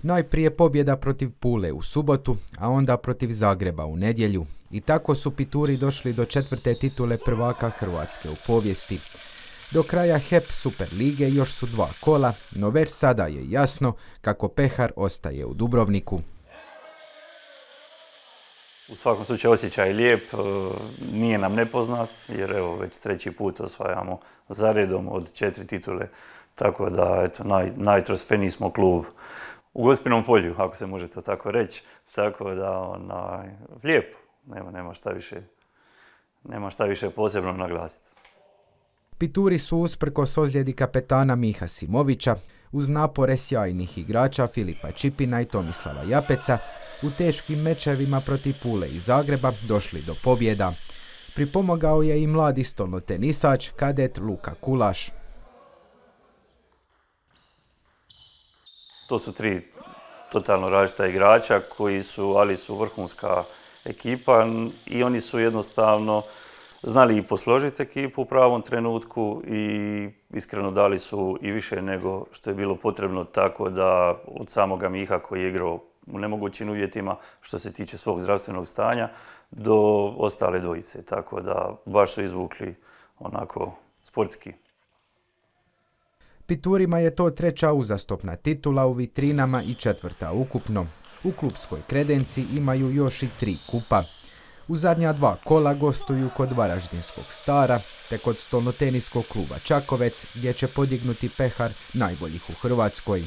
Najprije pobjeda protiv Pule u subotu, a onda protiv Zagreba u nedjelju. I tako su Pituri došli do 4. titule prvaka Hrvatske u povijesti. Do kraja HEP Super lige još su 2 kola, no već sada je jasno kako pehar ostaje u Dubrovniku. U svakom slučaju osjećaj je lijep, nije nam nepoznat jer evo već 3. put osvajamo zaredom od 4 titule, tako da eto, najtrofejniji smo klub u Gospinom polju, ako se može to tako reći, tako da lijepo, nema šta više posebno naglasiti. Pituri su usprkos ozljedi kapetana Miha Simovića, uz napore sjajnih igrača Filipa Čipina i Tomislava Japeca, u teškim mečevima protiv Pule i Zagreba došli do pobjeda. Pripomogao je i mladi stolnotenisač kadet Luka Kulaš. To su 3 totalno različita igrača ali su vrhunska ekipa i oni su jednostavno znali i posložiti ekipu u pravom trenutku i iskreno dali su i više nego što je bilo potrebno, tako da od samoga Miha koji je igrao u nemogućim uvjetima što se tiče svog zdravstvenog stanja do ostale dvojice, tako da baš su izvukli onako sportski. Piturima je to 3. uzastopna titula u vitrinama i 4. ukupno. U klupskoj kredenci imaju još i 3 kupa. U zadnja 2 kola gostuju kod Varaždinskog Stara te kod stolnoteniskog kluba Čakovec gdje će podignuti pehar najboljih u Hrvatskoj.